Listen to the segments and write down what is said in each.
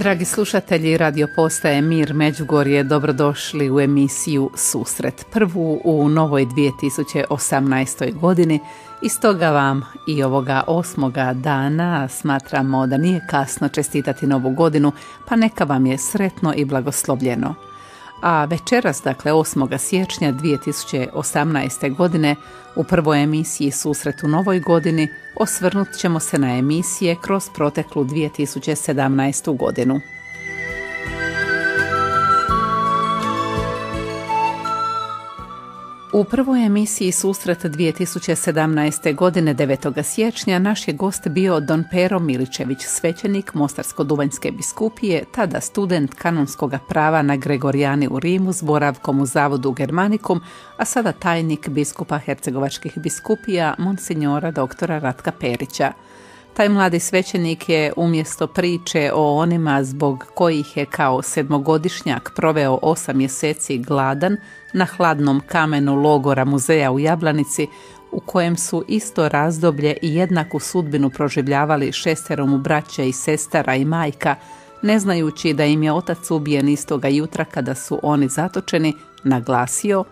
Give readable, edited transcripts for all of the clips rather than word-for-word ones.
Dragi slušatelji Radio Postaje Mir Međugorje, dobrodošli u emisiju Susret, prvu u novoj 2018. godini. I stoga vam i ovoga 8. dana smatramo da nije kasno čestitati novu godinu, pa neka vam je sretno i blagoslovljeno. A večeras, dakle 8. siječnja 2018. godine, u prvoj emisiji Susret u novoj godini, osvrnut ćemo se na emisije kroz proteklu 2017. godinu. U prvoj emisiji Susret 2017. godine 9. siječnja naš je gost bio Don Pero Miličević, svećenik Mostarsko-duvanjske biskupije, tada student kanonskog prava na Gregorijani u Rimu s boravkom u zavodu Germanicum, a sada tajnik biskupa hercegovačkih biskupija Monsignora doktora Ratka Perića. Taj mladi svećenik je umjesto priče o onima zbog kojih je kao sedmogodišnjak proveo 8 mjeseci gladan na hladnom kamenu logora muzeja u Jablanici, u kojem su isto razdoblje i jednaku sudbinu proživljavali 6 mu braće i sestara i majka, ne znajući da im je otac ubijen istoga jutra kada su oni zatočeni, naglasio: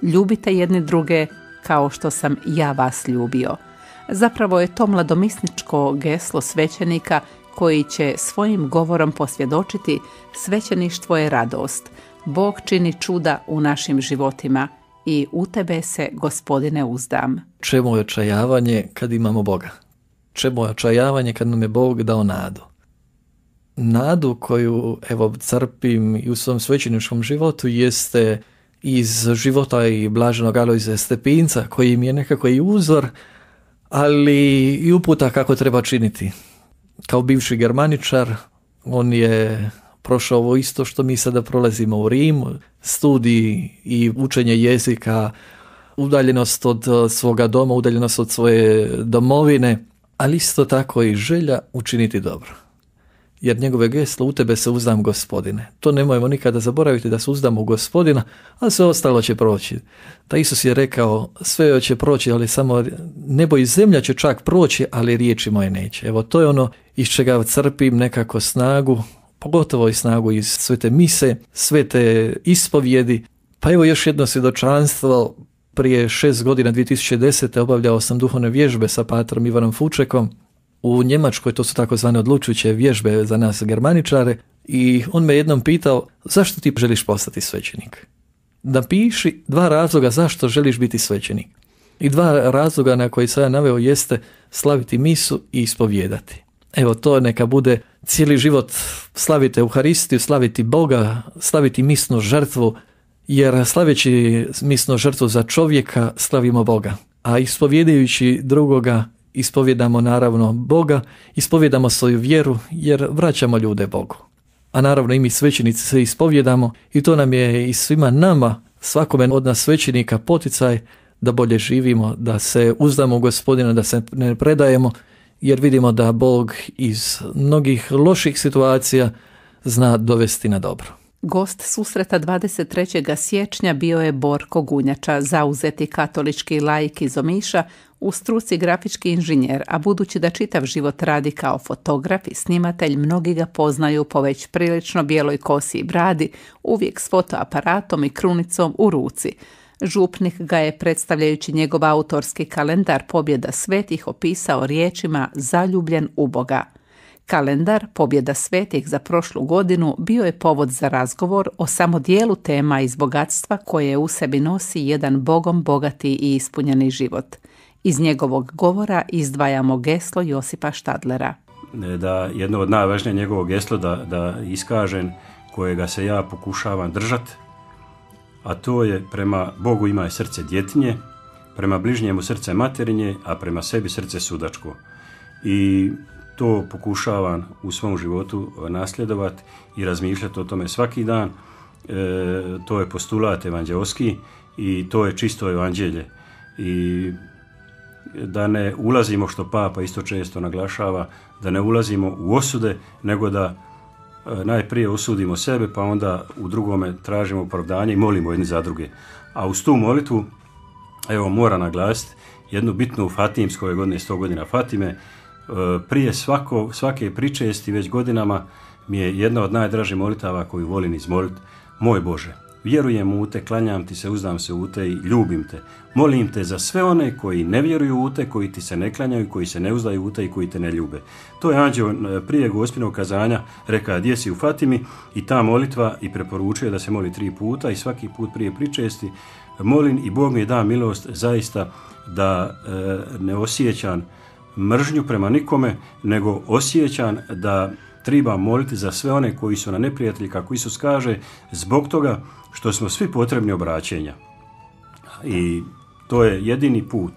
ljubite jedni druge kao što sam ja vas ljubio. Zapravo je to mladomisničko geslo svećenika koji će svojim govorom posvjedočiti: svećeništvo je radost, Bog čini čuda u našim životima i u tebe se, Gospodine, uzdam. Čemu je očajavanje kad imamo Boga? Čemu je očajavanje kad nam je Bog dao nadu? Nadu koju crpim i u svom svećeničkom životu jeste iz života i blaženog Alojzija Stepinca, koji mi je nekako i uzor, ali i uputa kako treba činiti. Kao bivši germaničar, on je prošao ovo isto što mi sada prolazimo u Rimu, studij i učenje jezika, udaljenost od svoga doma, udaljenost od svoje domovine, ali isto tako i želja učiniti dobro. Jer njegove geslo: u tebe se uzdam, Gospodine. To nemojmo nikada zaboraviti, da se uzdamo u Gospodina, a sve ostalo će proći. Ta Isus je rekao: sve će proći, ali samo nebo i zemlja će čak proći, ali riječi moje neće. Evo, to je ono iz čega crpim nekako snagu, pogotovo i snagu iz svete mise, svete ispovjedi. Pa evo još jedno svjedočanstvo. Prije 6 godina, 2010. obavljao sam duhovne vježbe sa patrom Ivanom Fučekom u Njemačkoj. To su takozvane odlučujuće vježbe za nas germaničare, i on me jednom pitao: zašto ti želiš postati svećenik? Napiši 2 razloga zašto želiš biti svećenik. I 2 razloga na koji sam ja naveo jeste slaviti misu i ispovijedati. Evo, to neka bude cijeli život: slaviti Euharistiju, slaviti Boga, slaviti misnu žrtvu, jer slaveći misnu žrtvu za čovjeka slavimo Boga, a ispovjedajući drugoga ispovjedamo naravno Boga, ispovjedamo svoju vjeru jer vraćamo ljude Bogu. A naravno i mi svećenici se ispovjedamo, i to nam je i svima nama, svakome od nas svećenika, poticaj da bolje živimo, da se uzdamo u Gospodina, da se ne predajemo, jer vidimo da Bog iz mnogih loših situacija zna dovesti na dobro. Gost susreta 23. siječnja bio je Borko Gunjača, zauzeti katolički laik iz Omiša, u struci grafički inženjer, a budući da čitav život radi kao fotograf i snimatelj, mnogi ga poznaju po već prilično bijeloj kosi i bradi, uvijek s fotoaparatom i krunicom u ruci. Župnik ga je, predstavljajući njegov autorski kalendar Pobjeda svetih, opisao riječima: zaljubljen u Boga. Kalendar Pobjeda svetih za prošlu godinu bio je povod za razgovor o samo dijelu tema iz bogatstva koje u sebi nosi jedan Bogom bogati i ispunjeni život. Iz njegovog govora izdvajamo geslo Josipa Štadlera. Da jedno od najvažnijih njegovog geslo da iskažem, kojega se ja pokušavam držati, a to je: prema Bogu imaj srce djetinje, prema bližnjemu srce materinje, a prema sebi srce sudačko. I to pokušavam u svom životu nasljedovati i razmišljati o tome svaki dan. To je postulat evanđeoski i to je čisto evanđelje. I da ne ulazimo, što Papa isto često naglašava, da ne ulazimo u osude, nego da najprije osudimo sebe, pa onda u drugome tražimo opravdanje i molimo jedni za druge. A uz tu molitvu, evo, moram naglasiti jednu bitnu fatimsku, ove godine 100 godina Fatime. Prije svake pričesti već godinama mi je jedna od najdražih molitava koju volim izmoliti. Moj Bože, vjerujem u te, klanjam ti se, uzdam se u te i ljubim te. Molim te za sve one koji ne vjeruju u te, koji ti se ne klanjaju, koji se ne uzdaju u te i koji te ne ljube. To je anđeo prije gospinog kazanja rekao gdje si u Fatimi i ta molitva i preporučuje da se moli 3 puta i svaki put prije pričesti molim i Bog mi da milost zaista da ne osjećam mržnju prema nikome, nego osjećam da treba moliti za sve one koji su na neprijatelji, kako Isus kaže, zbog toga što smo svi potrebni obraćenja. I to je jedini put.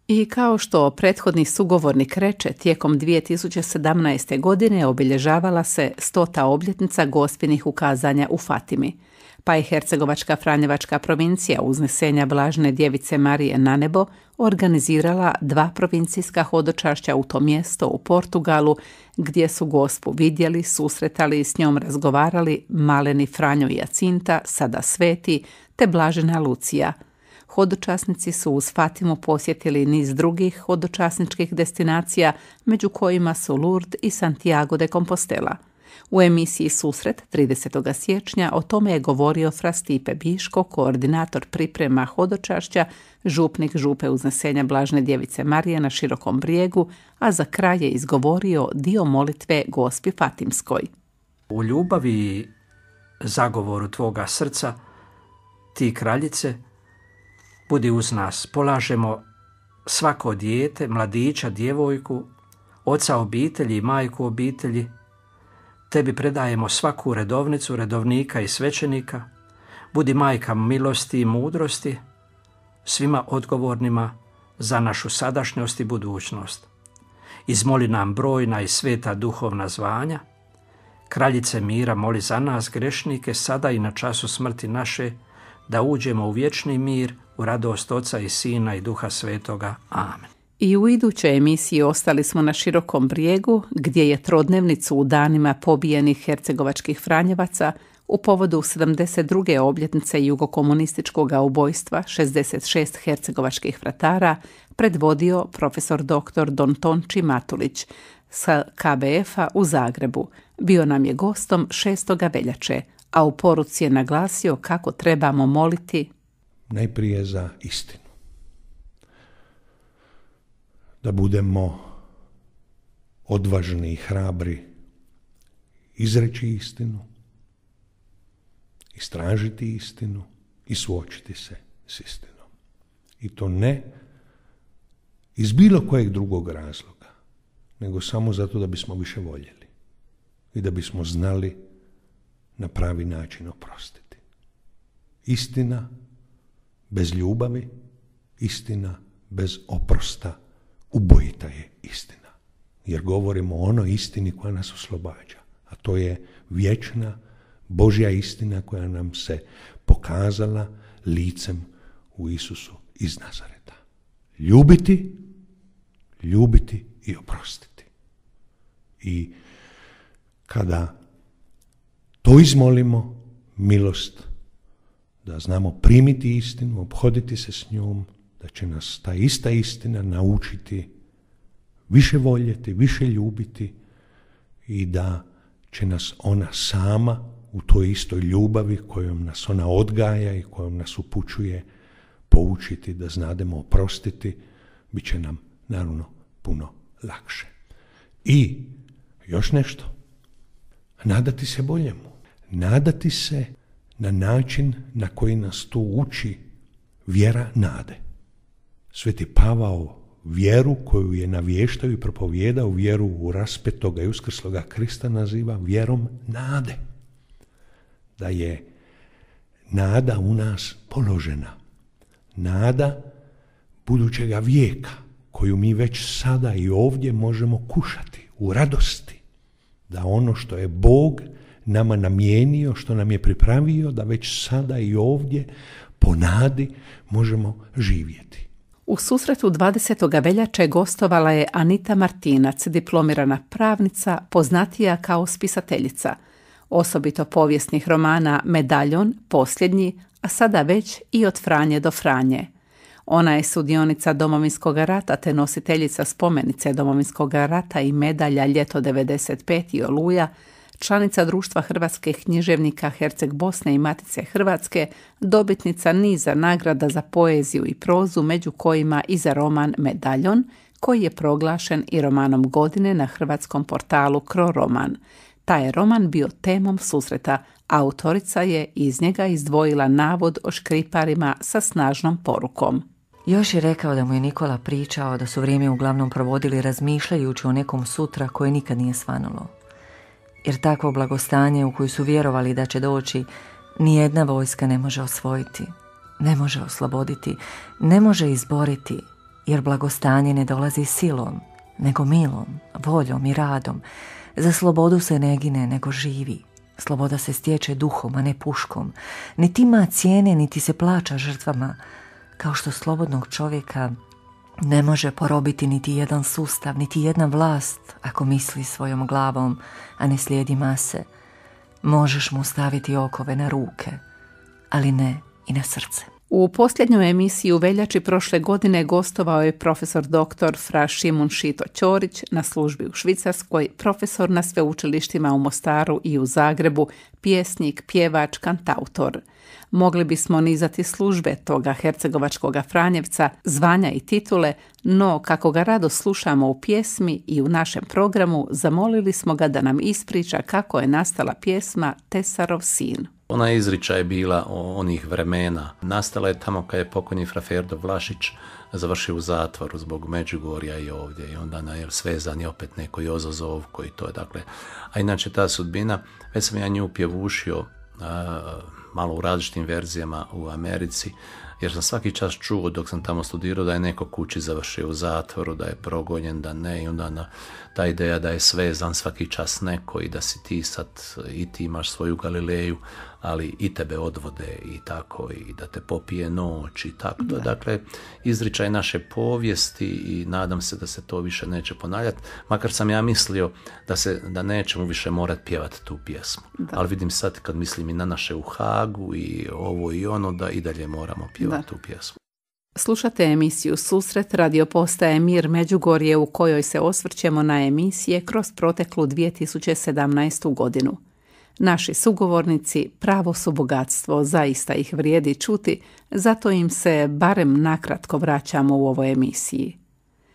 I kao što prethodni sugovornik reče, tijekom 2017. godine obilježavala se 100. obljetnica gospinih ukazanja u Fatimi, pa je Hercegovačka Franjevačka provincija uznesenja Blažene Djevice Marije na nebo organizirala 2 provincijska hodočašća u to mjesto u Portugalu, gdje su gospu vidjeli, susretali i s njom razgovarali maleni Franjo i Jacinta, sada sveti, te Blažena Lucija. Hodočasnici su uz Fatimu posjetili niz drugih hodočasničkih destinacija, među kojima su Lourdes i Santiago de Compostela. U emisiji Susret 30. siječnja o tome je govorio fra Stipe Biško, koordinator priprema hodočašća, župnik župe uznesenja Blažene Djevice Marije na Širokom Brijegu, a za kraj je izgovorio dio molitve Gospi Fatimskoj. U ljubavi i zagovoru tvoga srca, ti kraljice, budi uz nas. Polažemo svako dijete, mladića, djevojku, oca obitelji i majku obitelji. Tebi predajemo svaku redovnicu, redovnika i svećenika. Budi majka milosti i mudrosti, svima odgovornima za našu sadašnjost i budućnost. Izmoli nam brojna i sveta duhovna zvanja. Kraljice mira, moli za nas grešnike, sada i na času smrti naše, da uđemo u vječni mir, u radost Oca i Sina i Duha Svetoga. Amen. I u idućoj emisiji ostali smo na Širokom Brijegu, gdje je trodnevnicu u danima pobijenih hercegovačkih Franjevaca u povodu 72. obljetnice jugokomunističkog ubojstva 66 hercegovačkih vratara predvodio profesor dr. Don Tonči Matulić sa KBF-a u Zagrebu. Bio nam je gostom 6. veljače, a u poruci je naglasio kako trebamo moliti najprije za istinu. Da budemo odvažni i hrabri izreći istinu, istražiti istinu i suočiti se s istinom. I to ne iz bilo kojeg drugog razloga, nego samo zato da bismo više voljeli i da bismo znali na pravi način oprostiti. Istina bez ljubavi, istina bez oprosta ubojita je istina. Jer govorimo o onoj istini koja nas oslobađa, a to je vječna Božja istina koja nam se pokazala licem u Isusu iz Nazareta. Ljubiti i oprostiti. I kada to izmolimo, milost da znamo primiti istinu, ophoditi se s njom, da će nas ta ista istina naučiti više voljeti, više ljubiti i da će nas ona sama u toj istoj ljubavi kojom nas ona odgaja i kojom nas upućuje poučiti da znademo oprostiti, bit će nam naravno puno lakše. I još nešto, nadati se boljemu, nadati se na način na koji nas to uči vjera nade. Sveti Pavao vjeru koju je navještao i propovijedao, vjeru u raspetoga i uskrsloga Krista naziva vjerom nade. Da je nada u nas položena. Nada budućega vijeka koju mi već sada i ovdje možemo kušati u radosti. Da ono što je Bog nama namijenio, što nam je pripravio, da već sada i ovdje po nadi možemo živjeti. U susretu 20. veljače gostovala je Anita Martinac, diplomirana pravnica, poznatija kao spisateljica, osobito povijesnih romana Medaljon, Posljednji, a sada već i Od Franje do Franje. Ona je sudionica Domovinskog rata te nositeljica spomenice Domovinskog rata i medalja Ljeto 95 i Oluja, članica Društva hrvatskih književnika Herceg Bosne i Matice Hrvatske, dobitnica niza nagrada za poeziju i prozu, među kojima i za roman Medaljon, koji je proglašen i romanom godine na hrvatskom portalu Croroman. Taj je roman bio temom susreta. Autorica je iz njega izdvojila navod o škriparima sa snažnom porukom. Još je rekao da mu je Nikola pričao da su vrijeme uglavnom provodili razmišljajući o nekom sutra koje nikad nije svanulo. Jer takvo blagostanje u koju su vjerovali da će doći, nijedna vojska ne može osvojiti, ne može osloboditi, ne može izboriti, jer blagostanje ne dolazi silom, nego milom, voljom i radom. Za slobodu se ne gine, nego živi. Sloboda se stječe duhom, a ne puškom. Niti ima cijene, niti se plaća žrtvama, kao što slobodnog čovjeka ne može porobiti niti jedan sustav, niti jedna vlast, ako misli svojom glavom, a ne slijedi mase. Možeš mu staviti okove na ruke, ali ne i na srce. U posljednjoj emisiji u veljači prošle godine gostovao je profesor dr. fra Šimun Šito Ćorić, na službi u Švicarskoj, profesor na sveučilištima u Mostaru i u Zagrebu, pjesnik, pjevač, kantautor. Mogli bismo nizati službe toga hercegovačkoga Franjevca, zvanja i titule, no kako ga rado slušamo u pjesmi i u našem programu, zamolili smo ga da nam ispriča kako je nastala pjesma Tesarov sin. Ona izričaj je bila onih vremena. Nastala je tamo kad je pokojni fra Ferdo Vlašić završio u zatvoru zbog Međugorja i ovdje. I onda svezan je opet neko Jozozov koji to je, dakle. A inače ta sudbina, već sam ja nju pjevušio malo u različitim verzijama u Americi, jer sam svaki čas čuo dok sam tamo studirao da je neko kući završio u zatvoru, da je progonjen, da ne, i onda ta ideja da je svezan svaki čas neko i da si ti sad, i ti imaš svoju Galileju, ali i tebe odvode i tako, i da te popije noć i tako. Da. Dakle, izričaj naše povijesti i nadam se da se to više neće ponavljati, makar sam ja mislio da nećemo više morati pjevati tu pjesmu. Da. Ali vidim sad kad mislim i na naše u Hagu i ovo i ono, da i dalje moramo pjevati tu pjesmu. Slušate emisiju Susret radio postaje Mir Međugorje, u kojoj se osvrćemo na emisije kroz proteklu 2017. godinu. Naši sugovornici pravo su bogatstvo, zaista ih vrijedi čuti, zato im se barem nakratko vraćamo u ovoj emisiji.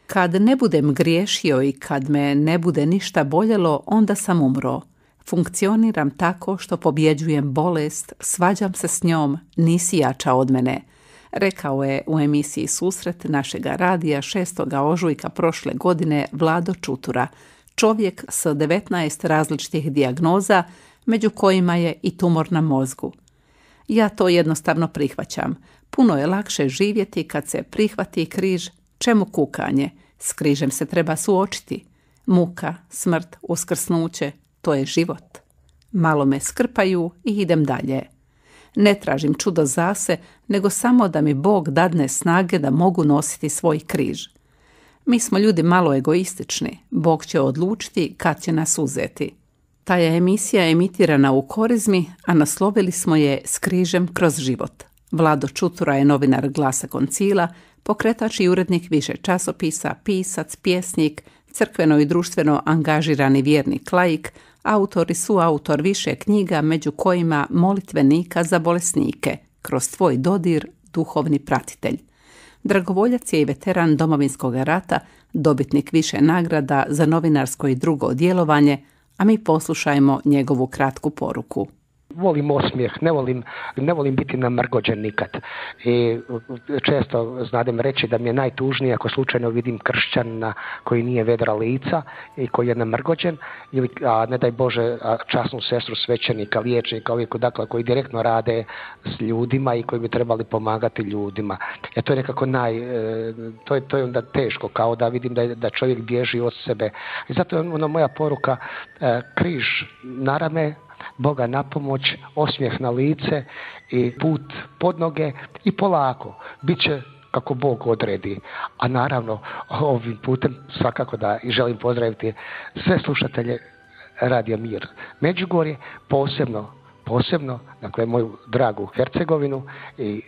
Kad ne budem griješio i kad me ne bude ništa boljelo, onda sam umro. Funkcioniram tako što pobjeđujem bolest, svađam se s njom, nisi jača od mene, rekao je u emisiji Susret našega radija 6. ožujka prošle godine Vlado Čutura, čovjek s 19 različitih dijagnoza, među kojima je i tumor na mozgu. Ja to jednostavno prihvaćam. Puno je lakše živjeti kad se prihvati križ, čemu kukanje, s križem se treba suočiti. Muka, smrt, uskrsnuće, to je život. Malo me skrpaju i idem dalje. Ne tražim čudo zase, nego samo da mi Bog dadne snage da mogu nositi svoj križ. Mi smo ljudi malo egoistični, Bog će odlučiti kad će nas uzeti. Ta je emisija emitirana u Korizmi, a naslovili smo je S križem kroz život. Vlado Čutura je novinar Glasa Koncila, pokretač i urednik više časopisa, pisac, pjesnik, crkveno i društveno angažirani vjernik laik, autor i suautor više knjiga, među kojima Molitvenika za bolesnike, kroz tvoj dodir, duhovni pratitelj. Dragovoljac je i veteran Domovinskog rata, dobitnik više nagrada za novinarsko i drugo djelovanje, a mi poslušajmo njegovu kratku poruku. Volim osmijeh, ne volim biti namrgođen nikad. I često znadem reći da mi je najtužnije ako slučajno vidim kršćanina koji nije vedra lica i koji je namrgođen, ili, a ne daj Bože, časnu sestru svećenika, liječnika, dakle, koji direktno rade s ljudima i koji bi trebali pomagati ljudima. To je nekako to je onda teško, kao da vidim da čovjek bježi od sebe. I zato je moja poruka, križ na rame, Boga na pomoć, osmijeh na lice i put pod noge i polako. Biće kako Bog odredi. A naravno, ovim putem svakako da i želim pozdraviti sve slušatelje Radija Mir Međugorje, posebno, dakle, moju dragu Hercegovinu i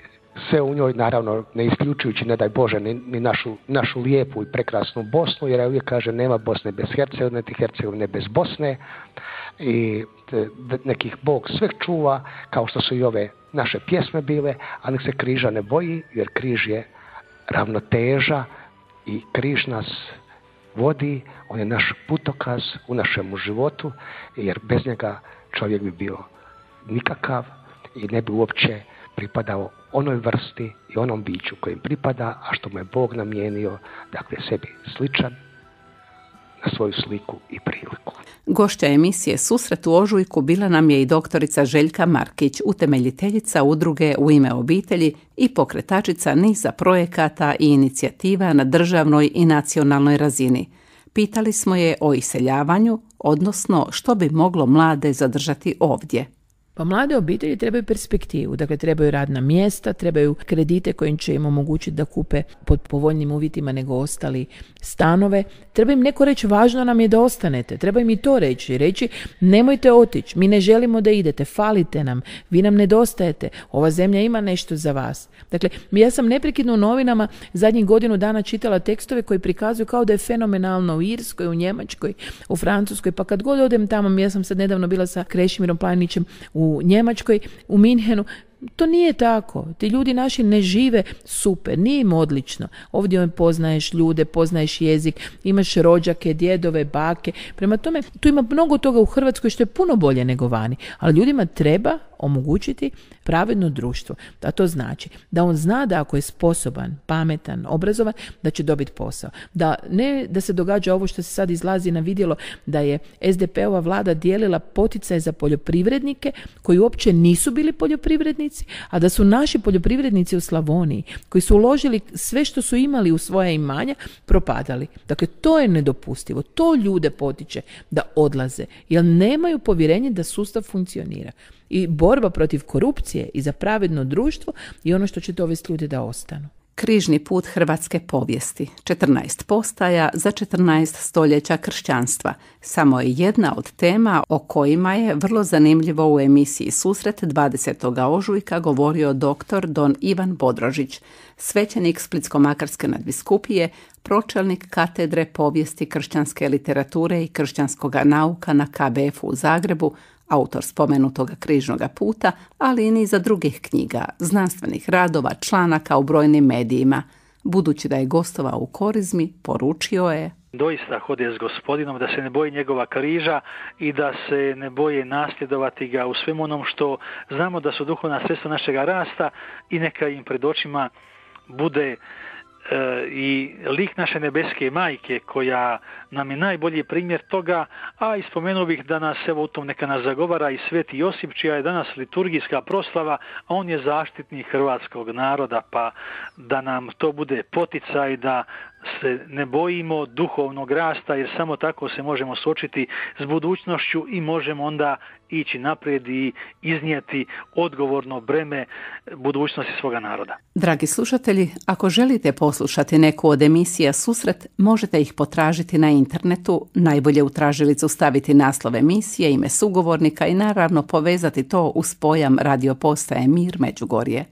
sve u njoj, naravno ne isključujući, ne daj Bože, ni našu lijepu i prekrasnu Bosnu, jer ja uvijek kaže nema Bosne bez Hercegovine, niti Hercegovine bez Bosne, i nekih Bog sve čuva, kao što su i ove naše pjesme bile, a nek se križa ne boji, jer križ je ravnoteža i križ nas vodi, on je naš putokaz u našemu životu, jer bez njega čovjek bi bio nikakav i ne bi uopće pripadao onoj vrsti i onom biću kojim pripada, a što mu je Bog namijenio, dakle sebi sličan, na svoju sliku i priliku. Gošća emisije Susret u ožujku bila nam je i doktorica Željka Markić, utemeljiteljica udruge U ime obitelji i pokretačica niza projekata i inicijativa na državnoj i nacionalnoj razini. Pitali smo je o iseljavanju, odnosno što bi moglo mlade zadržati ovdje. Pa mlade obitelji trebaju perspektivu, dakle trebaju radna mjesta, trebaju kredite kojim će im omogućiti da kupe pod povoljnim uvjetima nego ostali stanove. Treba im neko reći važno nam je da ostanete, treba im i to reći nemojte otići, mi ne želimo da idete, falite nam, vi nam nedostajete, ova zemlja ima nešto za vas. Dakle, ja sam neprekidno u novinama zadnjih godinu dana čitala tekstove koji prikazuju kao da je fenomenalno u Irskoj, u Njemačkoj, u Francuskoj, pa kad god odem tamo, ja sam sad nedavno bila sa Krešimirom Planićem u Njemačkoj, u Minhenu, to nije tako. Ti ljudi naši ne žive super, nije im odlično. Ovdje poznaješ ljude, poznaješ jezik, imaš rođake, djedove, bake. Prema tome, tu ima mnogo toga u Hrvatskoj što je puno bolje nego vani. Ali ljudima treba omogućiti pravedno društvo. A to znači da on zna da ako je sposoban, pametan, obrazovan, da će dobiti posao. Da ne da se događa ovo što se sad izlazi na vidjelo, da je SDP-ova vlada dijelila poticaje za poljoprivrednike koji uopće nisu bili poljoprivrednici, a da su naši poljoprivrednici u Slavoniji, koji su uložili sve što su imali u svoja imanja, propadali. Dakle, to je nedopustivo. To ljude potiče da odlaze, jer nemaju povjerenje da sustav funkcionira. I borba protiv korupcije i za pravedno društvo je ono što će dovesti ljude da ostanu. Križni put hrvatske povijesti, 14 postaja za 14 stoljeća kršćanstva, samo je jedna od tema o kojima je vrlo zanimljivo u emisiji Susret 20. ožujka govorio dr. don Ivan Bodrožić, svećenik Splitsko-makarske nadbiskupije, pročelnik katedre povijesti kršćanske literature i kršćanskoga nauka na KBF-u u Zagrebu, autor spomenutoga križnoga puta, ali i niza drugih knjiga, znanstvenih radova, članaka u brojnim medijima. Budući da je gostovao u Korizmi, poručio je: doista hode s Gospodinom, da se ne boji njegova križa i da se ne boje nasljedovati ga u svemu onom što znamo da su duhovna sredstva našega rasta, i neka im pred očima bude i lik naše nebeske majke, koja nam je najbolji primjer toga, a ispomenuo bih da nas evo u tom neka nas zagovara i Sveti Josip, čija je danas liturgijska proslava, a on je zaštitnik hrvatskog naroda, pa da nam to bude poticaj da se ne bojimo duhovnog rasta, jer samo tako se možemo suočiti s budućnošću i možemo onda ići naprijed i iznijeti odgovorno breme budućnosti svoga naroda. Dragi slušatelji, ako želite poslušati neku od emisija Susret, možete ih potražiti na internetu, najbolje u tražilicu staviti naslov emisije, ime sugovornika i naravno povezati to uz pojam radio postaje Mir Međugorje.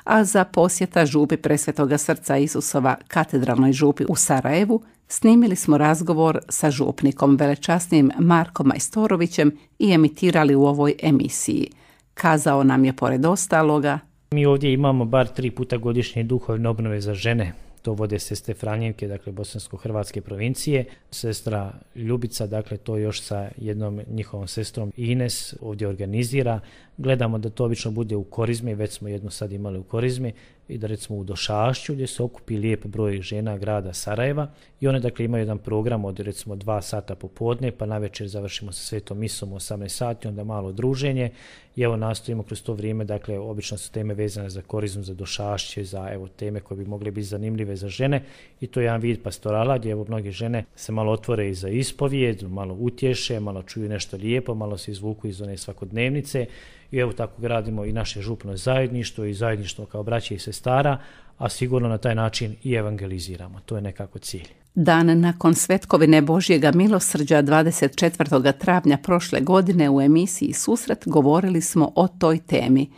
A za posjeta župi Presvetoga srca Isusova katedralnoj župi u Sarajevu snimili smo razgovor sa župnikom velečasnim Markom Majstorovićem i emitirali u ovoj emisiji. Kazao nam je pored ostaloga: mi ovdje imamo bar 3 puta godišnje duhovne obnove za žene. To vode sestre Franjevke, dakle bosansko-hrvatske provincije. Sestra Ljubica, dakle to još sa jednom njihovom sestrom Ines ovdje organizira. Gledamo da to obično bude u Korizmi, već smo jednu sad imali u Korizmi, i da recimo u Došašću gdje se okupi lijep broj žena grada Sarajeva, i one dakle imaju jedan program od recimo 2 sata popodne, pa navečer završimo sa svetom misom u 18 sati, onda malo druženje, i evo nastojimo kroz to vrijeme, dakle obično su teme vezane za Korizmu, za Došašće, za evo teme koje bi mogle biti zanimljive za žene, i to je jedan vid pastorala gdje evo mnoge žene se malo otvore i za ispovijed, malo utješe, malo čuju nešto lijepo, malo se izvuku iz one svakodnevnice. I evo tako gradimo i naše župno zajedništvo i zajedništvo kao braće i sestara, a sigurno na taj način i evangeliziramo. To je nekako cilj. Dan nakon Svetkovine Božjega milosrđa 24. travnja prošle godine u emisiji Susret govorili smo o toj temi.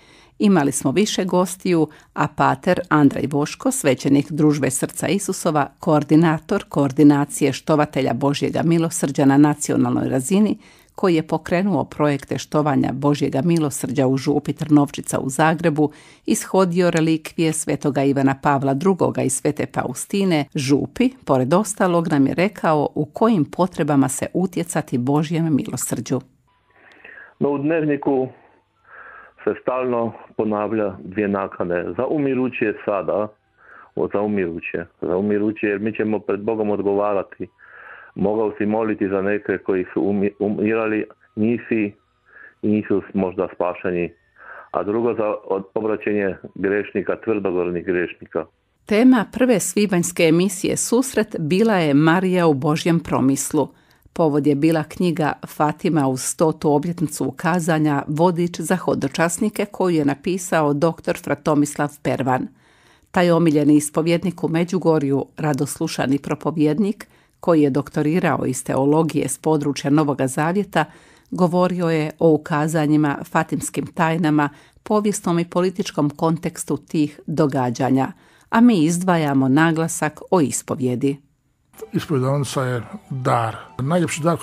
imali smo više gostiju, a pater Andrej Voško, svećenik Družbe Srca Isusova, koordinator koordinacije štovatelja Božjega milosrđa na nacionalnoj razini, koji je pokrenuo projekte štovanja Božjega milosrđa u župi Trnovčica u Zagrebu, ishodio relikvije svetoga Ivana Pavla II. I svete Faustine župi, pored ostalog nam je rekao u kojim potrebama se utjecati Božjem milosrđu. No, u dnevniku se stalno ponavlja dvije nakane. Za umiruće sada, za umiruće jer mi ćemo pred Bogom odgovarati. Mogao si moliti za neke koji su umirali, nisi i nisu možda spašeni. A drugo za obraćenje grešnika, tvrdogornih grešnika. Tema prve svibanjske emisije Susret bila je Marija u Božjem promislu. Povod je bila knjiga Fatima uz 100. obljetnicu ukazanja Vodič za hodočasnike koju je napisao dr. Fra Tomislav Pervan. Taj omiljeni ispovjednik u Međugorju, radoslušani propovjednik, koji je doktorirao iz teologije s područja Novoga Zavjeta, govorio je o ukazanjima, fatimskim tajnama, povijesnom i političkom kontekstu tih događanja, a mi izdvajamo naglasak o ispovjedi. Ispovjedanica je dar. Najljepši dar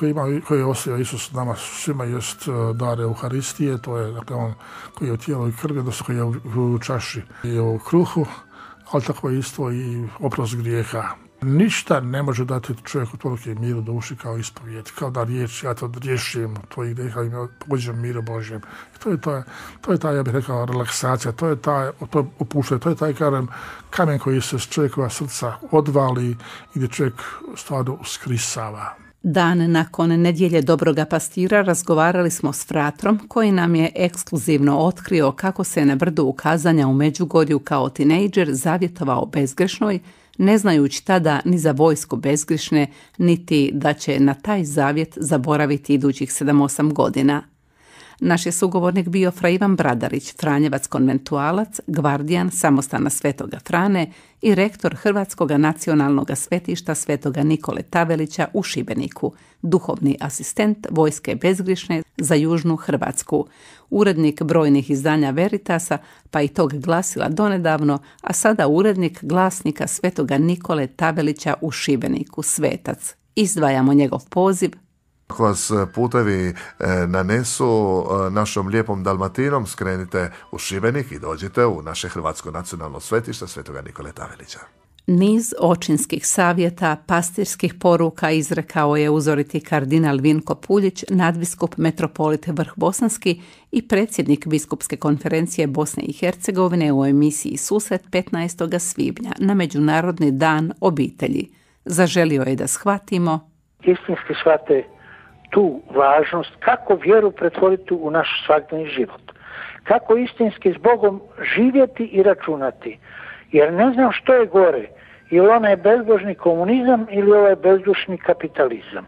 koji je ostavio Isus nama svima jest dar Euharistije, to je dakle, on koji je u tijelu i krvi, odnosno koji je u čaši i u kruhu, ali tako je isto i oprost grijeha. Ništa ne može dati čovjeku toliki miru duši kao ispovijed, kao da riječ, ja to riješim tvojih grijeha i pođem miru Božjem. To je ta, ja bih rekao, relaksacija, to je opuštanje, to je taj kamen koji se s čovjekova srca odvali i gdje čovjek stvarno uskrisava. Dan nakon nedjelje Dobroga pastira razgovarali smo s fratrom koji nam je ekskluzivno otkrio kako se na brdu ukazanja u Međugorju kao tinejdžer zavjetovao bezgrešnoj, ne znajući tada ni za vojsku bezgrišne, niti da će na taj zavjet zaboraviti idućih 7-8 godina. Naš je sugovornik bio fra Ivan Bradarić, franjevac konventualac, gvardijan samostana Svetoga Frane i rektor Hrvatskog nacionalnog svetišta Svetoga Nikole Tavelića u Šibeniku, duhovni asistent vojske bezgrišne za južnu Hrvatsku, urednik brojnih izdanja Veritasa, pa i tog glasila donedavno, a sada urednik glasnika Svetoga Nikole Tavelića u Šibeniku, svetac. Izdvajamo njegov poziv. Ako vas putevi nanesu našom lijepom Dalmatinom, skrenite u Šibenik i dođite u naše Hrvatsko nacionalno svetište Svetoga Nikole Tavelića. Niz očinskih savjeta, pastirskih poruka izrekao je uzoriti kardinal Vinko Puljić, nadbiskup metropolite Vrh Bosanski i predsjednik Biskupske konferencije Bosne i Hercegovine u emisiji Susret 15. svibnja na Međunarodni dan obitelji. Zaželio je da shvatimo istinski shvate tu važnost kako vjeru pretvoriti u naš svakodnevni život. Kako istinski s Bogom živjeti i računati. Jer ne znam što je gore. Ili onaj bezbožni komunizam ili ovaj bezdušni kapitalizam.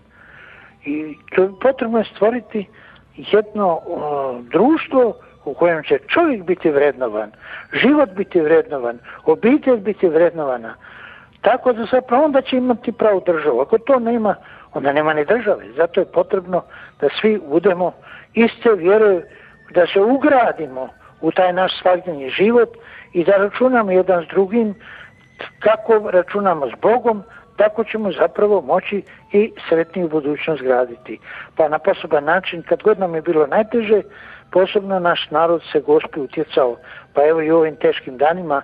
I to potrebno je stvoriti jedno društvo u kojem će čovjek biti vrednovan, život biti vrednovan, obitelj biti vrednovana. Tako da zapravo onda će imati pravu državu. Ako to nema, onda nema ni države. Zato je potrebno da svi budemo iste vjere, da se ugradimo u taj naš svakodnevni život i da računamo jedan s drugim. Kako računamo s Bogom, tako ćemo zapravo moći i sretniju budućnost graditi. Pa na poseban način, kad god nam je bilo najteže, posebno naš narod se Gospi utjecao. Pa evo i u ovim teškim danima,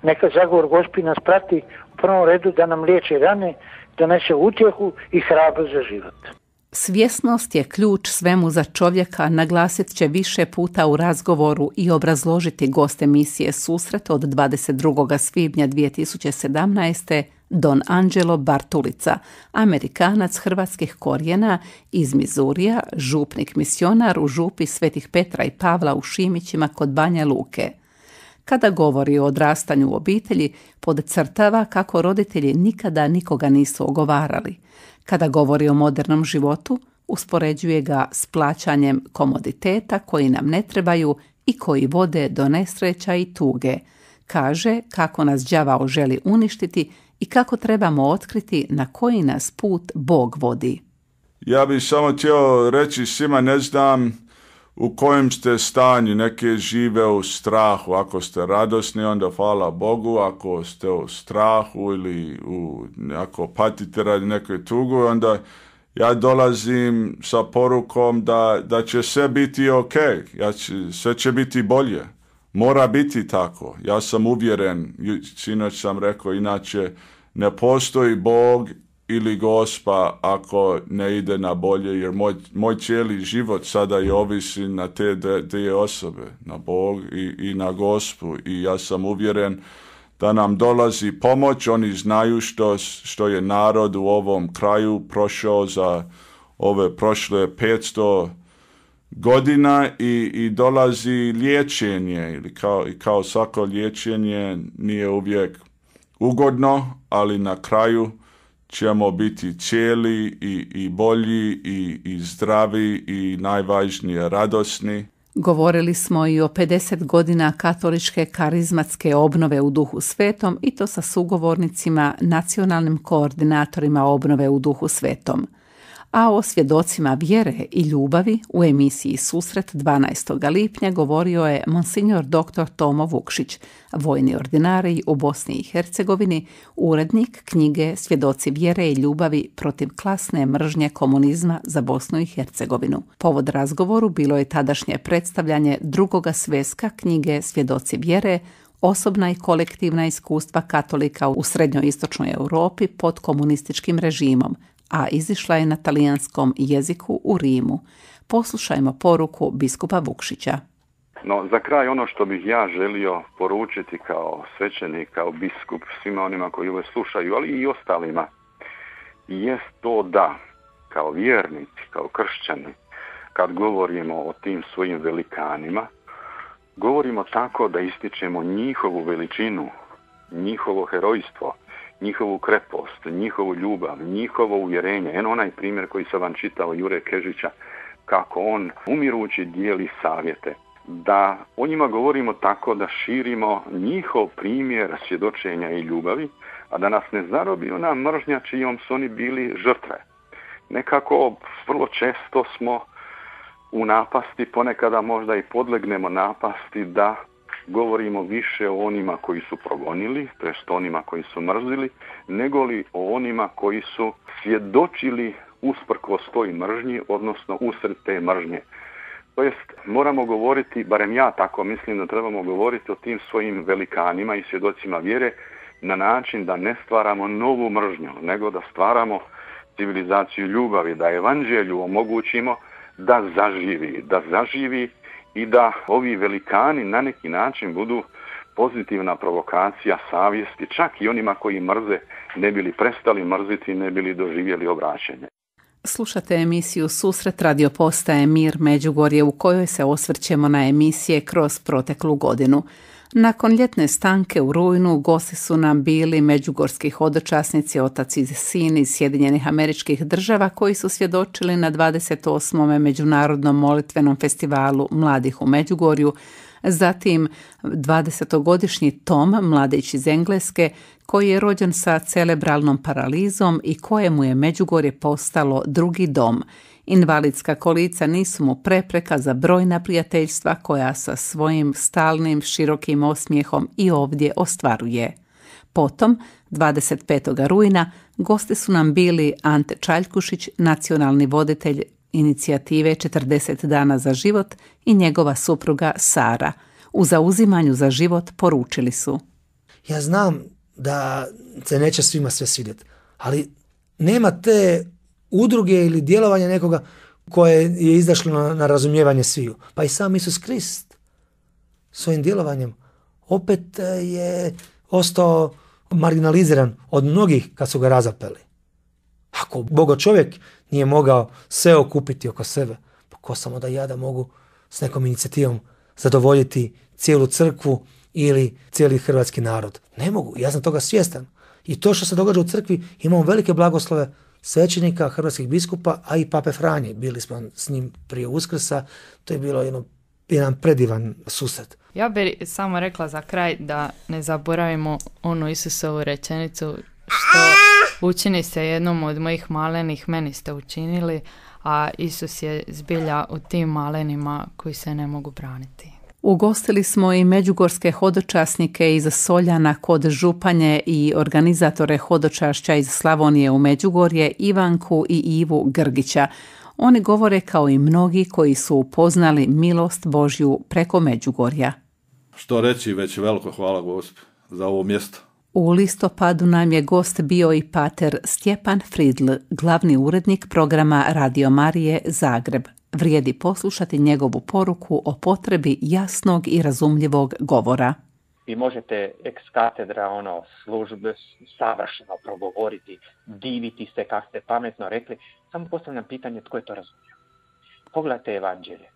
neka zagovor Gospi nas prati u prvom redu da nam liječi rane, donese utjehu i hrabrost za život. Svjesnost je ključ svemu za čovjeka, naglasit će više puta u razgovoru i obrazložiti gost emisije Susret od 22. svibnja 2017. Don Angelo Bartulica, Amerikanac hrvatskih korijena iz Mizurija, župnik misionar u župi Svetih Petra i Pavla u Šimićima kod Banja Luke. Kada govori o odrastanju u obitelji, podcrtava kako roditelji nikada nikoga nisu ogovarali. Kada govori o modernom životu, uspoređuje ga s plaćanjem komoditeta koji nam ne trebaju i koji vode do nesreća i tuge. Kaže kako nas đavao želi uništiti i kako trebamo otkriti na koji nas put Bog vodi. Ja bih samo htio reći svima, ne znam u kojem ste stanju. Neki žive u strahu. Ako ste radosni, onda hvala Bogu. Ako ste u strahu ili ako patite radi nekoj tugu, onda ja dolazim sa porukom da će sve biti ok. Sve će biti bolje. Mora biti tako. Ja sam uvjeren, sinoć sam rekao, inače ne postoji Bog ili Gospa ako ne ide na bolje, jer moj cijeli život sada je ovisi na te dvije osobe, na Bog i na Gospu, i ja sam uvjeren da nam dolazi pomoć. Oni znaju što je narod u ovom kraju prošao za ove prošle 500 godina i dolazi liječenje, ili kao svako liječenje nije uvijek ugodno, ali na kraju ćemo biti cijeli i bolji i zdravi i najvažnije radosni. Govorili smo i o 50 godina katoličke karizmatske obnove u Duhu Svetom, i to sa sugovornicima, nacionalnim koordinatorima obnove u Duhu Svetom. A o svjedocima vjere i ljubavi u emisiji Susret 12. lipnja govorio je monsignor dr. Tomo Vukšić, vojni ordinarij u Bosni i Hercegovini, urednik knjige Svjedoci vjere i ljubavi protiv klasne mržnje komunizma za Bosnu i Hercegovinu. Povod razgovoru bilo je tadašnje predstavljanje drugoga sveska knjige Svjedoci vjere, osobna i kolektivna iskustva katolika u srednjoistočnoj Europi pod komunističkim režimom, a izišla je na talijanskom jeziku u Rimu. Poslušajmo poruku biskupa Vukšića. No, za kraj ono što bih ja želio poručiti kao svećenik, kao biskup, svima onima koji ovo slušaju, ali i ostalima, jest to da, kao vjernici, kao kršćani, kad govorimo o tim svojim velikanima, govorimo tako da ističemo njihovu veličinu, njihovo herojstvo, njihovu krepost, njihovu ljubav, njihovo uvjerenje. Eno onaj primjer koji sam vam čitao Jure Kežića, kako on umirući dijeli savjete. Da o njima govorimo tako da širimo njihov primjer svjedočenja i ljubavi, a da nas ne zarobi ona mržnja čijom su oni bili žrtve. Nekako vrlo često smo u napasti, ponekada možda i podlegnemo napasti da govorimo više o onima koji su progonili, to jest onima koji su mrzili, nego li o onima koji su svjedočili usprkos toj mržnji, odnosno usred te mržnje. To jest, moramo govoriti, barem ja tako mislim da trebamo govoriti o tim svojim velikanima i svjedocima vjere na način da ne stvaramo novu mržnju, nego da stvaramo civilizaciju ljubavi, da evanđelju omogućimo da zaživi i da ovi velikani na neki način budu pozitivna provokacija savjesti, čak i onima koji mrze, ne bili prestali mrziti, ne bili doživjeli obraćenje. Slušate emisiju Susret radio postaje Mir Međugorje, u kojoj se osvrćemo na emisije kroz proteklu godinu. Nakon ljetne stanke u rujnu gosti su nam bili međugorski hodočasnici, otac i sin iz Sjedinjenih Američkih Država, koji su svjedočili na 28. Međunarodnom molitvenom festivalu Mladih u Međugorju, zatim 20-godišnji Tom, mladić iz Engleske, koji je rođen sa cerebralnom paralizom i kojemu je Međugorje postalo drugi dom. Invalidska kolica nisu mu prepreka za brojna prijateljstva koja sa svojim stalnim širokim osmijehom i ovdje ostvaruje. Potom, 25. rujna, gosti su nam bili Ante Čaljkušić, nacionalni voditelj inicijative 40 dana za život, i njegova supruga Sara. U zauzimanju za život poručili su: ja znam da se neće svima sve svidjeti, ali nema te udruge ili djelovanja nekoga koje je izašlo na razumijevanje sviju. Pa i sam Isus Krist svojim djelovanjem opet je ostao marginaliziran od mnogih kad su ga razapeli. Ako Bogo čovjek nije mogao sve okupiti oko sebe, pa ko samo da ja da mogu s nekom inicijativom zadovoljiti cijelu crkvu ili cijeli hrvatski narod. Ne mogu, ja sam toga svjestan. I to što se događa u crkvi, imamo velike blagoslove svećenika, hrvatskih biskupa, a i pape Franje. Bili smo s njim prije Uskrsa, to je bilo jedan predivan susret. Ja bih samo rekla za kraj da ne zaboravimo onu Isusovu rečenicu što učini se jednom od mojih malenih, meni ste učinili, a Isus je zbilja u tim malenima koji se ne mogu braniti. Ugostili smo i međugorske hodočasnike iz Soljana kod Županje i organizatore hodočašća iz Slavonije u Međugorje, Ivanku i Ivu Grgića. Oni govore kao i mnogi koji su upoznali milost Božju preko Međugorja. Što reći, već veliko hvala Gospi za ovo mjesto. U listopadu nam je gost bio i pater Stjepan Fridl, glavni urednik programa Radio Marije Zagreb. Vrijedi poslušati njegovu poruku o potrebi jasnog i razumljivog govora. Vi možete ex katedra službe savršeno progovoriti, diviti se kako ste pametno rekli, samo postavljam pitanje tko je to razumio. Pogledajte evanđelje.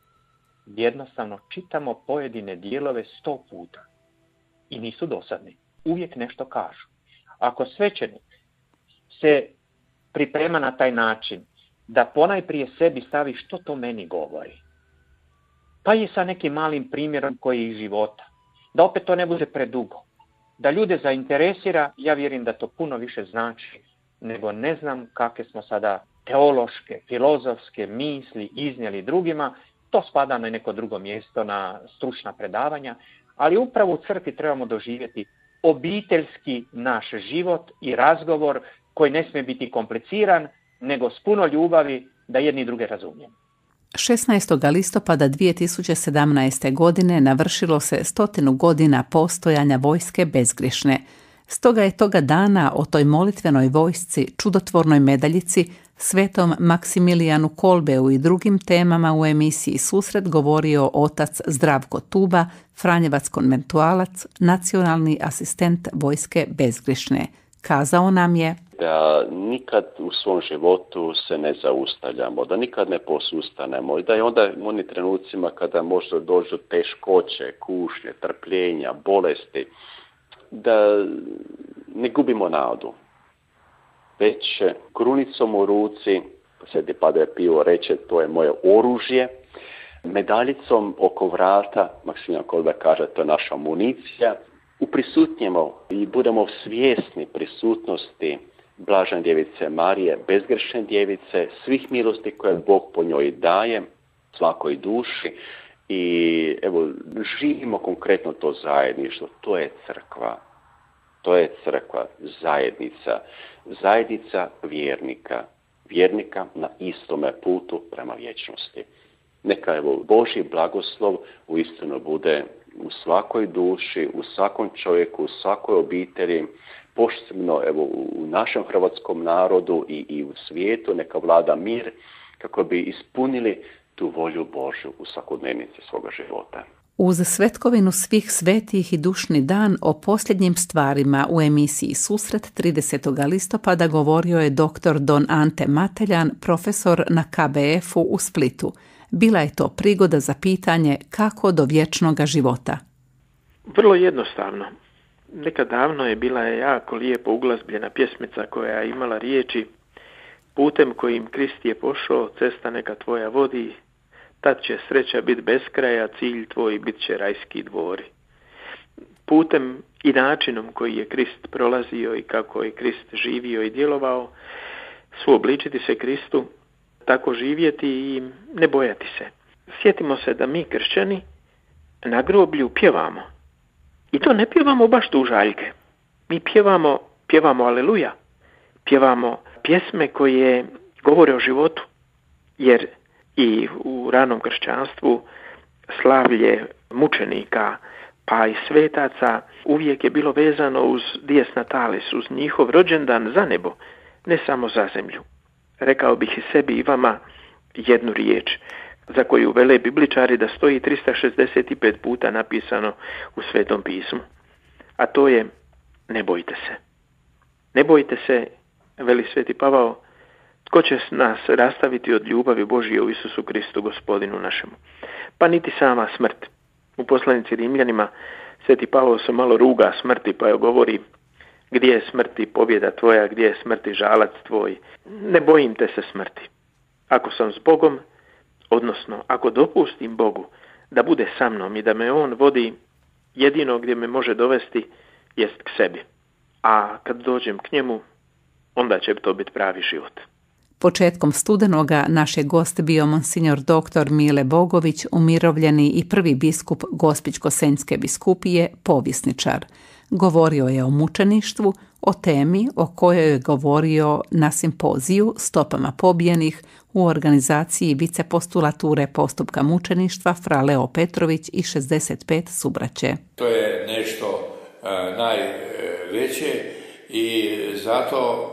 Jednostavno čitamo pojedine dijelove 100 puta i nisu dosadni. Uvijek nešto kažu. Ako svećenik se priprema na taj način da ponajprije sebi stavi što to meni govori, pa je sa nekim malim primjerom koji je iz života, da opet to ne bude predugo, da ljude zainteresira, ja vjerujem da to puno više znači nego ne znam kakve smo sada teološke, filozofske misli iznijeli drugima. To spada na neko drugo mjesto, na stručna predavanja, ali upravo u crkvi trebamo doživjeti obiteljski naš život i razgovor koji ne smije biti kompliciran, nego s puno ljubavi da jedni druge razumijemo. 16. listopada 2017. godine navršilo se 100 godina postojanja vojske bezgrešne. Stoga je toga dana o toj molitvenoj vojsci, čudotvornoj medaljici, svetom Maksimilijanu Kolbeu i drugim temama u emisiji Susret govorio otac Zdravko Tuba, franjevac konventualac, nacionalni asistent vojske bezgrešne. Kazao nam je da nikad u svom životu se ne zaustavljamo, da nikad ne posustanemo i da je onda u onim trenucima kada možda dođu teškoće, kušnje, trpljenja, bolesti, da ne gubimo nadu. Već krunicom u ruci, Sveti Padre Pio reče, to je moje oružje, medaljicom oko vrata, Maksimilijan Kolbe kaže, to je naša amunicija, uprisutnjemo i budemo svjesni prisutnosti Blažene Djevice Marije, bezgrešne djevice, svih milosti koje Bog po njoj daje svakoj duši i evo, živimo konkretno to zajedništvo, to je crkva. To je crkva, zajednica vjernika na istome putu prema vječnosti. Neka evo Božji blagoslov uistinu bude u svakoj duši, u svakom čovjeku, u svakoj obitelji, posebno evo u našem hrvatskom narodu i u svijetu, neka vlada mir kako bi ispunili tu volju Božju u svakodnevnici svoga života. Uz svetkovinu svih svetih i dušni dan o posljednjim stvarima u emisiji Susret 30. listopada govorio je dr. Don Ante Mateljan, profesor na KBF-u u Splitu. Bila je to prigoda za pitanje kako do vječnoga života. Vrlo jednostavno. Nekad davno je bila jako lijepo uglazbljena pjesmica koja je imala riječi: putem kojim Krist je pošao, cesta neka tvoja vodi, tad će sreća biti bez kraja, cilj tvoj bit će rajski dvori. Putem i načinom koji je Krist prolazio i kako je Krist živio i djelovao, suobličiti se Kristu, tako živjeti i ne bojati se. Sjetimo se da mi kršćani na groblju pjevamo. I to ne pjevamo baš tužaljke. Mi pjevamo aleluja. Pjevamo pjesme koje govore o životu. Jer i u ranom kršćanstvu slavlje mučenika pa i svetaca uvijek je bilo vezano uz dies natalis, uz njihov rođendan za nebo, ne samo za zemlju. Rekao bih i sebi i vama jednu riječ za koju vele bibličari da stoji 365 puta napisano u Svetom pismu. A to je: ne bojte se. Ne bojte se, veli Sveti Pavao, tko će nas rastaviti od ljubavi Božje u Isusu Kristu Gospodinu našemu. Pa niti sama smrt. U poslanici Rimljanima Sveti Pavao se malo ruga smrti pa joj govori: gdje je smrti pobjeda tvoja, gdje je smrti žalac tvoj. Ne bojim te se smrti. Ako sam s Bogom, odnosno ako dopustim Bogu da bude sa mnom i da me On vodi, jedino gdje me može dovesti jest k sebi. A kad dođem k njemu, onda će to biti pravi život. Početkom studenoga naš je gost bio monsignor dr. Mile Bogović, umirovljeni i prvi biskup Gospićko-senjske biskupije, povjesničar. Govorio je o mučeništvu, o temi o kojoj je govorio na simpoziju Stopama pobijenih u organizaciji vicepostulature postupka mučeništva Fra Leo Petrović i 65 subraće. To je nešto najveće i zato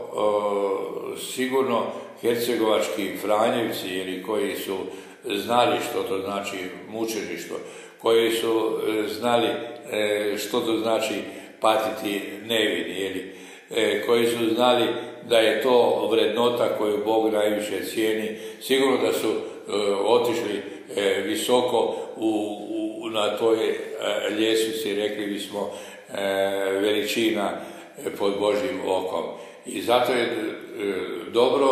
sigurno hercegovački Franjevci ili koji su znali što to znači mučeništvo, koji su znali što to znači patiti nevini, koji su znali da je to vrednota koju Bog najviše cijeni. Sigurno da su otišli visoko na toj ljestvici, rekli bismo, veličina pod Božjim okom. I zato je dobro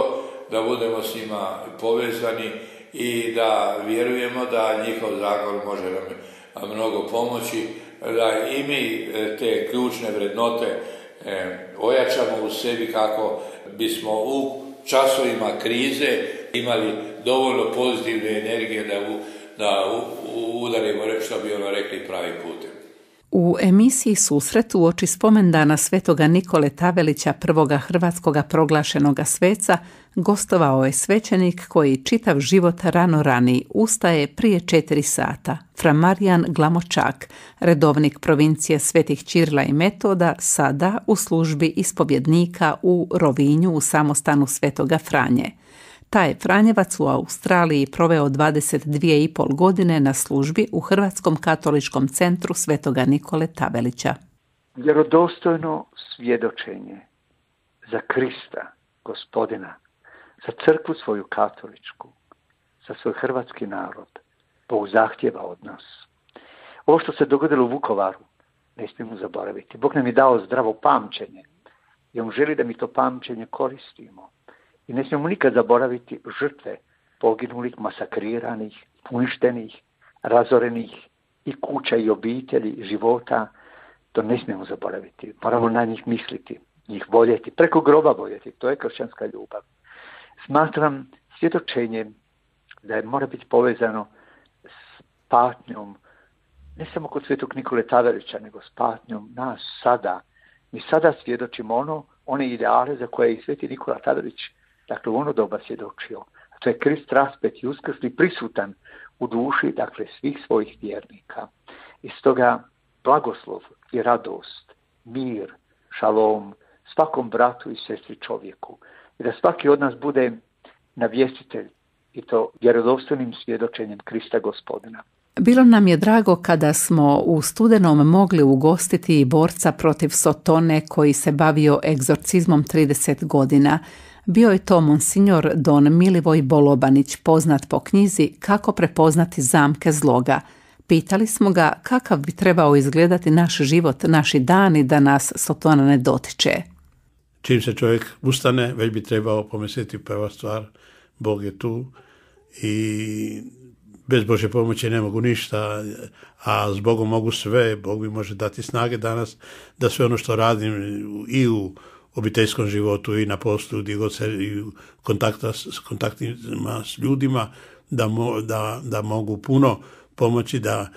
da budemo s njima povezani i da vjerujemo da njihov zakon može nam mnogo pomoći, da i mi te ključne vrednote ojačamo u sebi kako bismo u časovima krize imali dovoljno pozitivne energije da udarimo, što bi rekli, pravi putem. U emisiji Susret uoči spomendana svetoga Nikole Tavelića, prvoga hrvatskoga proglašenoga sveca, gostovao je svećenik koji čitav život rano rani ustaje prije 4 sata. Fra Marijan Glamočak, redovnik provincije Svetih Ćirila i Metoda, sada u službi ispovjednika u Rovinju u samostanu Svetoga Franje. Taj je Franjevac u Australiji proveo 22,5 godine na službi u Hrvatskom katoličkom centru Svetoga Nikole Tavelića. Vjerodostojno svjedočenje za Krista, Gospodina, za crkvu svoju katoličku, za svoj hrvatski narod, Bog zahtjeva od nas. Ovo što se dogodilo u Vukovaru, ne smijemo zaboraviti. Bog nam je dao zdravo pamćenje i On želi da mi to pamćenje koristimo. I ne smijemo nikad zaboraviti žrtve poginulih, masakriranih, uništenih, razorenih i kuća i obitelji, života. To ne smijemo zaboraviti. Moramo na njih misliti, njih voljeti, preko groba voljeti. To je kršćanska ljubav. Smatram svjedočenje da mora biti povezano s patnjom, ne samo kod svetog Nikole Tavelića, nego s patnjom nas sada. Mi sada svjedočimo one ideale za koje je i sveti Nikola Tavelić, dakle, u ono doba svjedočio. A to je Krist raspet i uskrsli, prisutan u duši, dakle, svih svojih vjernika. I stoga blagoslov i radost, mir, šalom svakom bratu i sestri čovjeku. I da svaki od nas bude navjestitelj i to vjerodostojnim svjedočenjem Krista Gospodina. Bilo nam je drago kada smo u studenom mogli ugostiti i borca protiv Sotone koji se bavio egzorcizmom 30 godina. Bio je to monsignor don Milivoj Bolobanić, poznat po knjizi Kako prepoznati zamke zloga. Pitali smo ga kakav bi trebao izgledati naš život, naši dani da nas Sotona ne dotiče. Čim se čovjek ustane, već bi trebao pomisliti prva stvar, Bog je tu i bez Božje pomoći ne mogu ništa, a s Bogom mogu sve. Bog mi može dati snage danas da sve ono što radim i u obiteljskom životu i na poslu, gdje god se i u kontaktima s ljudima, da mogu puno pomoći, da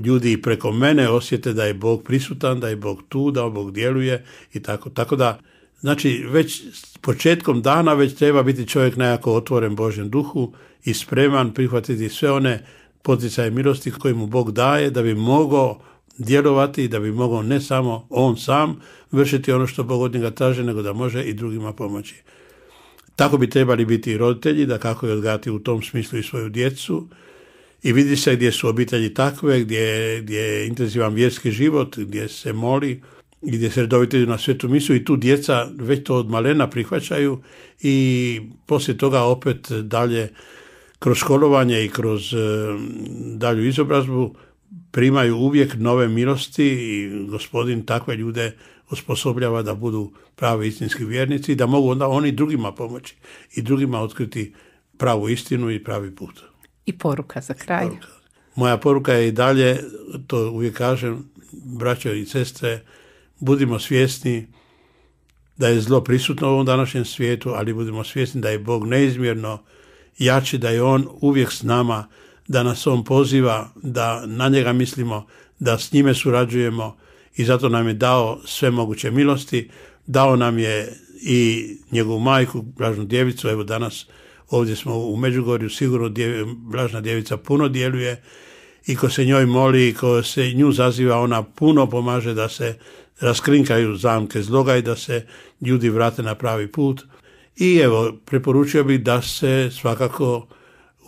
ljudi preko mene osjete da je Bog prisutan, da je Bog tu, da Bog djeluje i tako. Tako da, znači, već s početkom dana već treba biti čovjek nekako otvoren Božjem duhu i spreman prihvatiti sve one poticaje milosti koje mu Bog daje da bi mogao djelovati i da bi mogao ne samo on sam vršiti ono što Bog od njega traži, nego da može i drugima pomoći. Tako bi trebali biti i roditelji, da kako je odgajati u tom smislu i svoju djecu. I vidi se gdje su obitelji takve, gdje je intenzivan vjerski život, gdje se moli i gdje se redovito idu na svetu misu i tu djeca već to od malena prihvaćaju i poslije toga opet dalje kroz školovanje i kroz dalju izobrazbu primaju uvijek nove milosti i Gospodin takve ljude osposobljava da budu pravi istinski vjernici i da mogu onda oni drugima pomoći i drugima otkriti pravu istinu i pravi put. I poruka za kraj. Moja poruka je i dalje, to uvijek kažem, braćo i sestre, budimo svjesni da je zlo prisutno u ovom današnjem svijetu, ali budemo svjesni da je Bog neizmjerno jači, da je On uvijek s nama, da nas On poziva, da na njega mislimo, da s njime surađujemo i zato nam je dao sve moguće milosti. Dao nam je i njegovu majku, Blažnu djevicu. Evo danas ovdje smo u Međugorju, sigurno Blažna djevica puno djeluje i ko se njoj moli i ko se nju zaziva, ona puno pomaže da se raskrinkaju zamke zloga i da se ljudi vrate na pravi put. I evo, preporučio bih da se svakako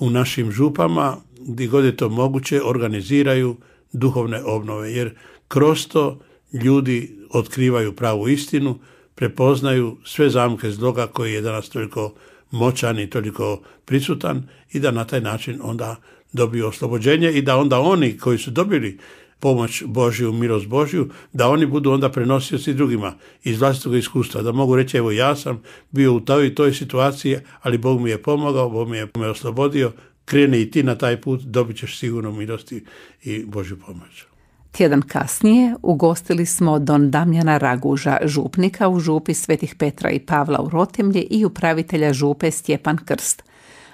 u našim župama, gdje god je to moguće, organiziraju duhovne obnove, jer kroz to ljudi otkrivaju pravu istinu, prepoznaju sve zamke zloga koji je danas toliko moćan i toliko prisutan i da na taj način onda dobiju oslobođenje i da onda oni koji su dobili pomoć Božju, milost Božju, da oni budu onda prenosioci drugima iz vlastitog iskustva, da mogu reći evo ja sam bio u toj situaciji, ali Bog mi je pomogao, Bog mi je oslobodio, kreni i ti na taj put, dobit ćeš sigurno milosti i Božju pomoć. Tjedan kasnije ugostili smo don Damjana Raguža, župnika u župi Svetih Petra i Pavla u Rotemlje i upravitelja župe Stjepan Krst.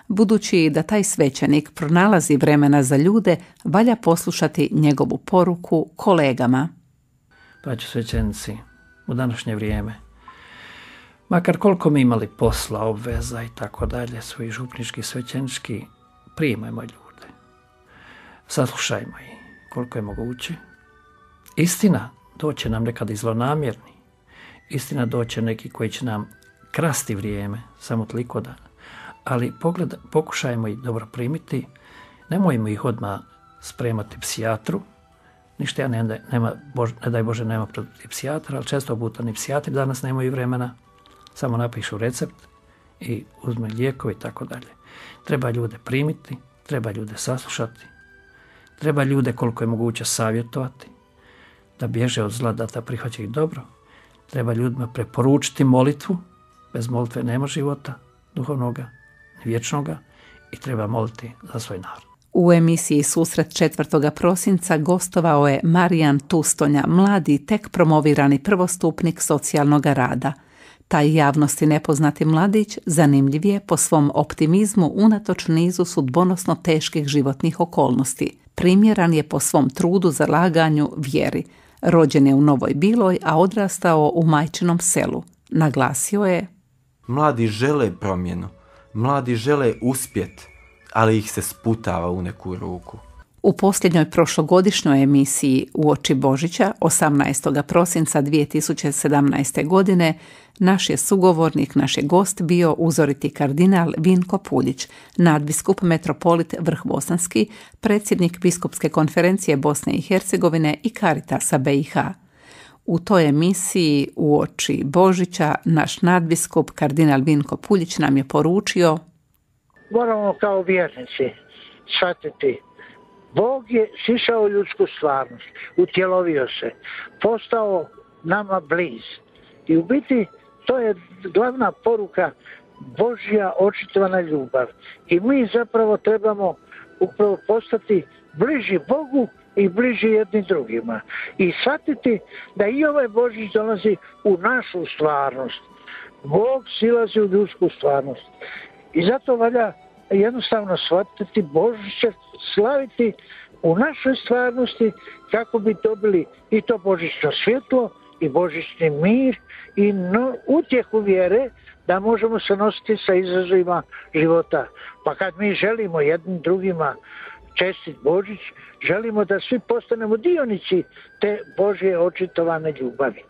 Budući da taj svećenik pronalazi vremena za ljude, valja poslušati njegovu poruku kolegama. Braćo svećenici, u današnje vrijeme, makar koliko mi imali posla, obveza i tako dalje, svoji župnički, svećenički, primajmo ljude. Saslušajmo ih koliko je moguće. Istina doće nam nekad i zlonamjerni. Istina doće neki koji će nam krasti vrijeme, samo toliko da. Ali pokušajmo ih dobro primiti, nemojmo ih odmah spremati psijatru. Ništa ja ne daj Bože nema protiv psijatra, ali često puta ni psijatri danas nemaju vremena, samo napišu recept i uzme lijekove i tako dalje. Treba ljude primiti, treba ljude saslušati, treba ljude koliko je moguće savjetovati, da bježe od zla, da prihvaćaju dobro. Treba ljudima preporučiti molitvu, bez molitve nema života duhovnoga, ni vječnoga, i treba moliti za svoj narod. U emisiji Susret 4. prosinca gostovao je Marijan Tustonja, mladi tek promovirani prvostupnik socijalnog rada. Taj javnosti nepoznati mladić zanimljiv je po svom optimizmu unatoč nizu sudbonosno teških životnih okolnosti. Primjeran je po svom trudu, zalaganju, vjeri. Rođen je u Novoj Biloj, a odrastao u majčinom selu. Naglasio je: mladi žele promjenu, mladi žele uspjet, ali ih se sputava u neku ruku. U posljednjoj prošlogodišnjoj emisiji Uoči Božića 18. prosinca 2017. godine naš je sugovornik, naš je gost bio uzoriti kardinal Vinko Puljić, nadbiskup metropolit Vrhbosanski, predsjednik Biskupske konferencije Bosne i Hercegovine i Caritasa BiH. U toj emisiji Uoči Božića naš nadbiskup kardinal Vinko Puljić nam je poručio: moramo kao vjernici shvatiti, Bog je sišao u ljudsku stvarnost, utjelovio se, postao nama bliz. I u biti to je glavna poruka, Božja očitovana ljubav. I mi zapravo trebamo upravo postati bliži Bogu i bliži jedni drugima. I shvatiti da i ovaj Božić dolazi u našu stvarnost. Bog silazi u ljudsku stvarnost. I zato valja jednostavno shvatiti Božića, slaviti u našoj stvarnosti kako bi dobili i to božićno svjetlo i božićni mir i utjehu vjere da možemo se nositi sa izazovima života. Pa kad mi želimo jednim drugima čestit Božić, želimo da svi postanemo dionici te Božje očitovane ljubavi.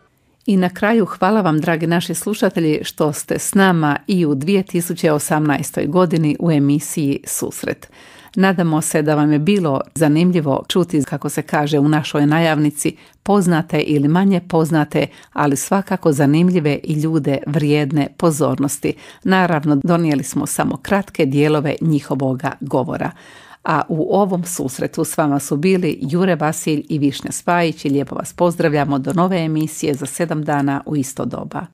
I na kraju hvala vam, dragi naši slušatelji, što ste s nama i u 2018. godini u emisiji Susret. Nadamo se da vam je bilo zanimljivo čuti, kako se kaže u našoj najavnici, poznate ili manje poznate, ali svakako zanimljive i ljude vrijedne pozornosti. Naravno, donijeli smo samo kratke dijelove njihovoga govora. A u ovom susretu s vama su bili Jure Vasilj i Višnja Spajić i lijepo vas pozdravljamo do nove emisije za 7 dana u isto doba.